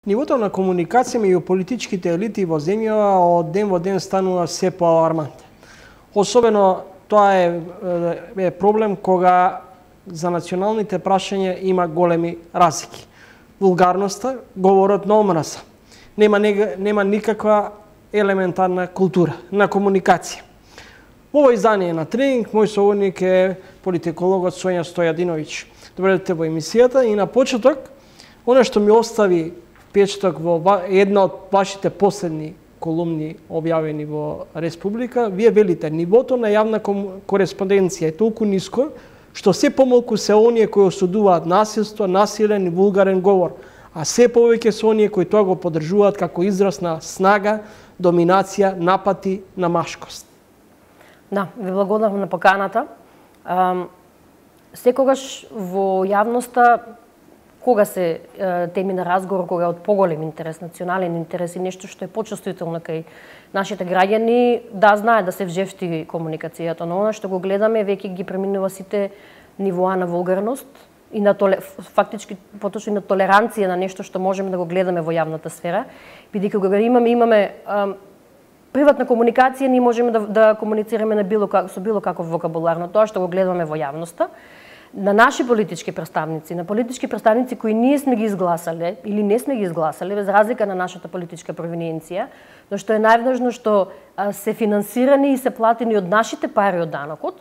Нивото на комуникација меѓу политичките елити во земјава од ден во ден станува се поалармантен. Особено тоа е проблем кога за националните прашања има големи разлики. Вулгарноста, говорот на омраза. Нема никаква елементарна култура на комуникација. Во ово издание на Тренинг, мој соговорник е политикологот Сонја Стојадиновиќ. Добре дојдете во емисијата и на почеток, она што ми остави впечаток во една од вашите последни колумни објавени во Республика, вие велите, нивото на јавна кореспонденција е толку ниско, што се помалку се оние кои осудуваат насилство, насилен и вулгарен говор, а се повеќе се оние кои тоа го поддржуваат како израз на снага, доминација, напати на машкост. Да, ви благодарам на поканата. Секогаш во јавноста, кога се теми на разговор, кога е од поголем интерес, национален интерес и нешто што е почувствително кај нашите граѓани, да знаат да се вжефти комуникацијата, но она што го гледаме веќе ги преминува сите нивоа на вулгарност и на фактички поточно и на толеранција на нешто што можеме да го гледаме во јавната сфера, бидејќи кога имаме приватна комуникација, ние можеме да комуницираме со било каков вокабулар, но тоа што го гледаме во јавноста, на наши политички представници, на политички представници кои ние сме ги изгласале или не сме ги изгласале, без разлика на нашата политичка провиненција, но што е најважно што се финансирани и се платени од нашите пари од данокот,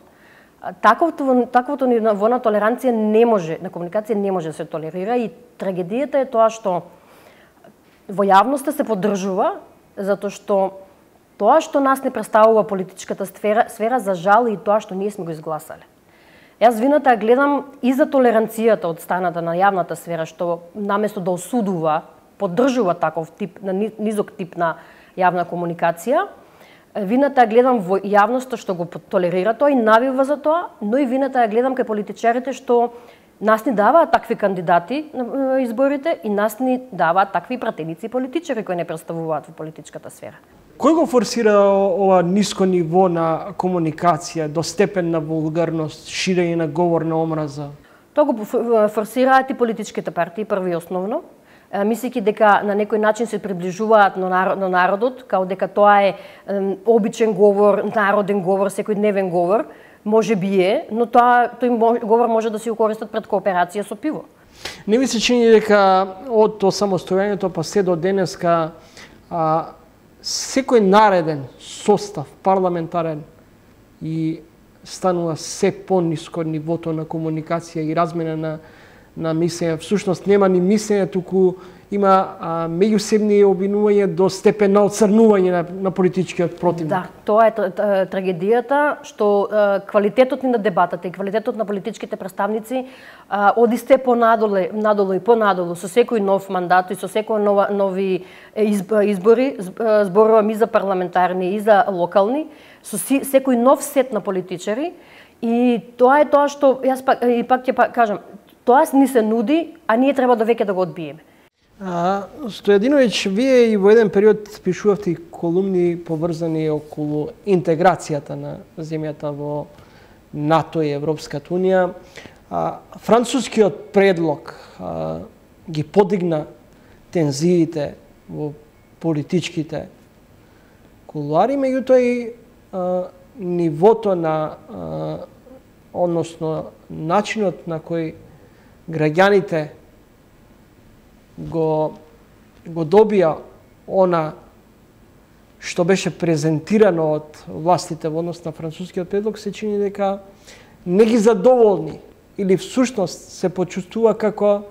таквото ниво на толеранција не може, на комуникација не може да се толерира и трагедијата е тоа што во јавноста се поддржува, затоа што нас не представува политичката сфера, за жал и тоа што ние сме го изгласале. Јас вината ја гледам и за толеранцијата од страната на јавната сфера, што наместо да осудува, поддржува таков тип, на низок тип на јавна комуникација, вината ја гледам во јавноста што го толерира тоа и навива за тоа, но и вината ја гледам кај политичарите што нас ни даваат такви кандидати на изборите и нас ни даваат такви пратеници политичари кои не представуваат во политичката сфера. Кој го форсира ова ниско ниво на комуникација, до степен на вулгарност, ширење на говор на омраза? Тоа го форсираат и политичките партии, прво и основно, мислејќи дека на некој начин се приближуваат на народот, као дека тоа е обичен говор, народен говор, секојдневен говор, може би е, но тој говор може да се користат пред кооперација со пиво. Не ми се чини дека од осамостојањето па се до денеска секој нареден состав парламентарен и станува се пониско нивото на комуникација и размена на мислење. Всушност нема ни мислење, туку има меѓусебни обвинувања до степен на оцрнување на политичкиот противник. Да, тоа е трагедијата, што квалитетот на дебатата и квалитетот на политичките представници оди сте понадолу и понадолу со секој нов мандат и со секој нови избори, зборувам и за парламентарни и за локални, со секој нов сет на политичари, и тоа е тоа што јас пак ќе кажам, тоа ни се нуди, а ние треба веќе да го одбиеме. Стојадиновиќ, вие и во еден период пишувавте колумни поврзани околу интеграцијата на земјата во НАТО и Европската унија. Францускиот предлог ги подигна тензиите во политичките кулуари, меѓутоа и нивото на, односно начинот на кој граѓаните го добија она што беше презентирано од властите во однос на францускиот предлог, се чини дека не ги задоволни или всушност се почувствува како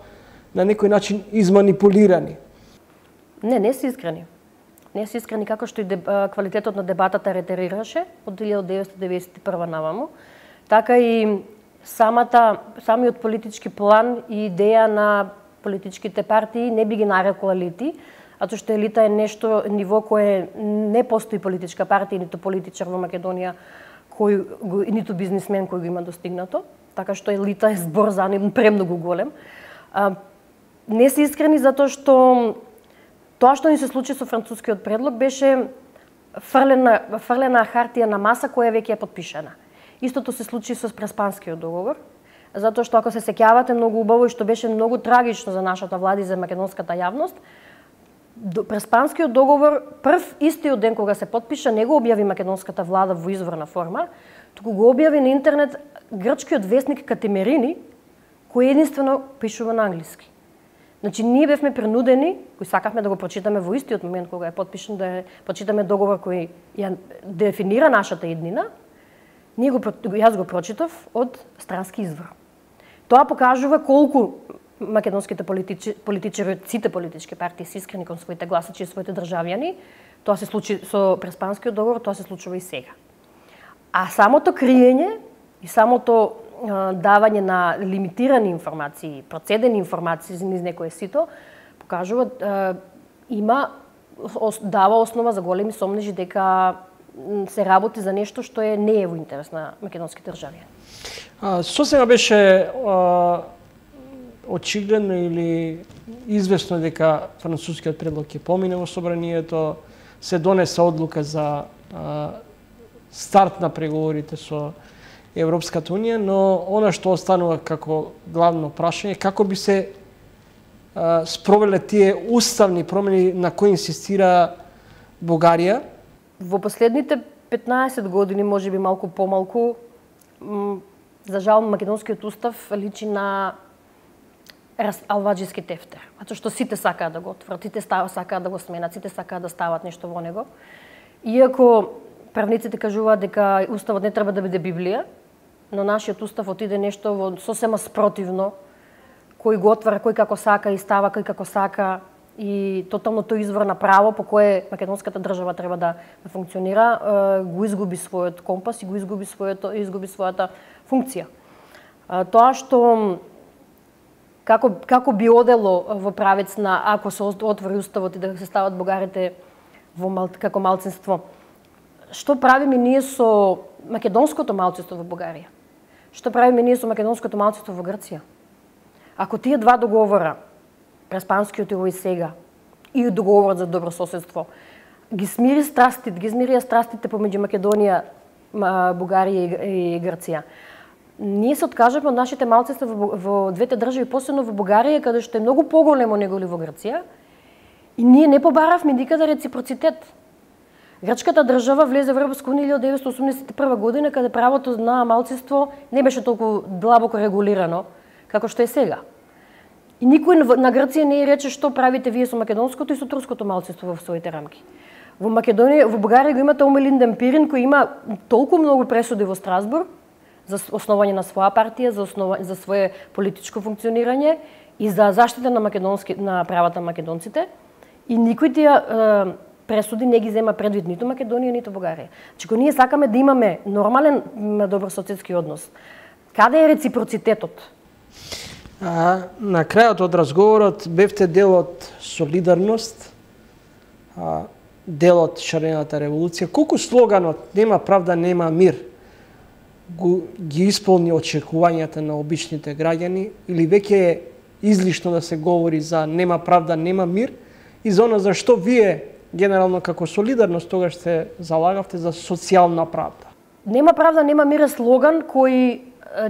на некој начин изманипулирани. Не се искрени. Не се искрени како што и квалитетот на дебатата ретерираше од 1991 наваму, така и самиот политички план и идеја на политичките партии не би ги нарекла елити, затоа што елита е ниво кое не постои политичка партија, ниту политичар во Македонија, ниту бизнисмен кој го има достигнато, така што елита е збор за премногу голем. Не се искрени затоа што тоа што ни се случи со францускиот предлог беше фрлена хартија на маса која веќе е потпишана. Истото се случи со Преспанскиот договор, затоа што ако се сеќавате многу убаво и што беше многу трагично за нашата влада и за македонската јавност, Преспанскиот договор, прв истиот ден кога се потпиша, не го објави македонската влада во изворна форма, туку го објави на интернет грчкиот весник Катемерини, кој единствено пишува на англиски. Значи, ние бевме принудени, кои сакавме да го прочитаме во истиот момент кога е потпишан, да прочитаме договор кој ја дефинира нашата еднина, јас го прочитав од странски извор. Тоа покажува колку македонските политичари, сите политички партии се искрени кон своите гласачи и своите државјани. Тоа се случи со Преспанскиот договор, тоа се случува и сега. А самото криење и самото давање на лимитирани информации, процедени информации низ некое сито, покажува дава основа за големи сомнежи дека се работи за нешто што не е во интерес на македонските државјани. Сосема беше очигледно или известно дека францускиот предлог ќе помине во собранието, се донесе одлука за старт на преговорите со Европската унија, но она што останува како главно прашање, како би се спровеле тие уставни промени на кои инсистира Бугарија? Во последните 15 години, можеби малку помалку, за жал македонскиот устав личи на алваџиски тефтер. Затоа што сите сакаат да го отворат, сите сакаат да го сменат, сите сакаат да стават нешто во него. Иако правниците кажуваат дека уставот не треба да биде Библија, но нашиот устав отиде нешто во сосема спротивно, кој го отвара кој како сака и става кој како сака, и тотално тој извор на право по кое македонската држава треба да функционира, го изгуби својот компас и го изгуби својата функција. Тоа што како би одело во правец на ако се отвори уставот и да се стават бугарите како малцинство. Што правиме ние со македонското малцинство во Бугарија? Што правиме ние со македонското малцинство во Грција? Ако тие два договора, Преспанскиот и овој сега, и договорот за добрососедство, ги смирија страстите помеѓу Македонија, Бугарија и Грција, ние се откажаме од нашите малцинства во двете држави, посебно во Бугарија, каде што е многу поголемо неголи во Грција, и ние не побаравме никаде реципроцитет. Грчката држава влезе во Европска унија 1981 година, каде правото на малцинство не беше толку длабоко регулирано како што е сега. И никој на Грција не рече што правите вие со македонското и со турското малцинство во своите рамки. Во Бугарија го имате Омелинден Пирин, кој има толку многу пресуди во Страсбург за основање на своја партија, за свое политичко функционирање и за заштита на правата на македонците, и никој тие пресуди не ги зема предвид ниту Македонија, ниту Бугарија. Значи, ние сакаме да имаме нормален добрососедски однос. Каде е реципроцитетот? На крајот од разговорот бевте дел од солидарност, дел од шарената револуција. Колку слоганот "Нема правда, нема мир" ги исполни очекувањата на обичните граѓани, или веќе е излишно да се говори за "Нема правда, нема мир" и за она за што вие генерално како солидарност тогаш се залагавте за социјална правда? Нема правда, нема мир е слоган кој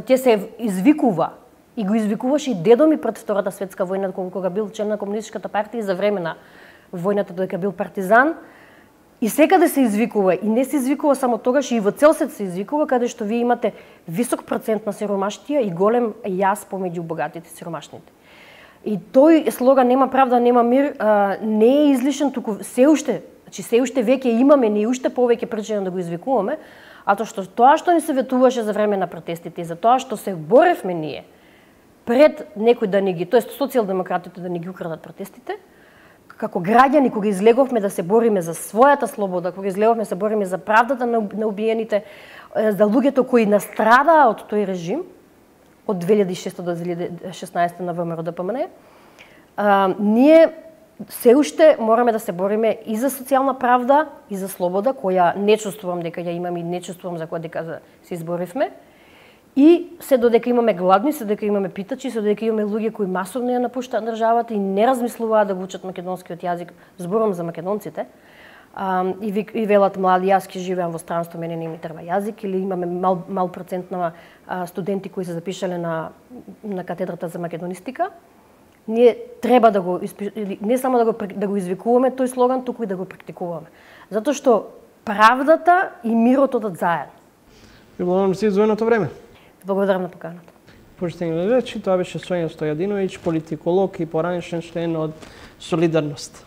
ќе се извикува и го извикуваше и дедо ми пред Втората светска војна, кога бил член на комунистичката партија, за време на војната дека бил партизан. И секаде се извикува, и не се извикува само тогаш, и во цел свет се извикува, каде што вие имате висок процент на сиромаштија и голем јас помеѓу богатите и сиромашните. И тој слоган "Нема правда, нема мир" не е излишен, туку се уште веќе имаме, ние уште повеќе причина да го извикуваме, тоа што ни се ветуваше за време на протестите и за тоа што се боревме ние пред некој да ни ги, тоест социјалдемократите да ни ги украдат протестите, како граѓани кога излеговме да се бориме за својата слобода, кога излеговме да се бориме за правдата на убиените, за луѓето кои настрадаа од тој режим, од 2006 до 2016 на ВМРО ДПМН, ние се уште мораме да се бориме и за социјална правда, и за слобода, која не чувствувам дека ја имам и не чувствувам за која дека се изборивме. И се додека имаме гладни, се додека имаме питачи, се додека имаме луѓе кои масовно ја напуштаат државата и не размислуваат да го учат македонскиот јазик, зборувам за македонците, и велат млади, јас ќе живеам во странство, мене не ми треба јазик, или имаме мал процент на студенти кои се запишале на катедрата за македонистика, ние треба да го не само да го извикуваме тој слоган, туку и да го практикуваме. Затоа што правдата и мирот одат заедно. Ви благодарам за издвоеното време. Благодарам на поканата. Почитани гледачи, тоа беше Сонја Стојадиновиќ, политиколог и поранешен член од Солидарност.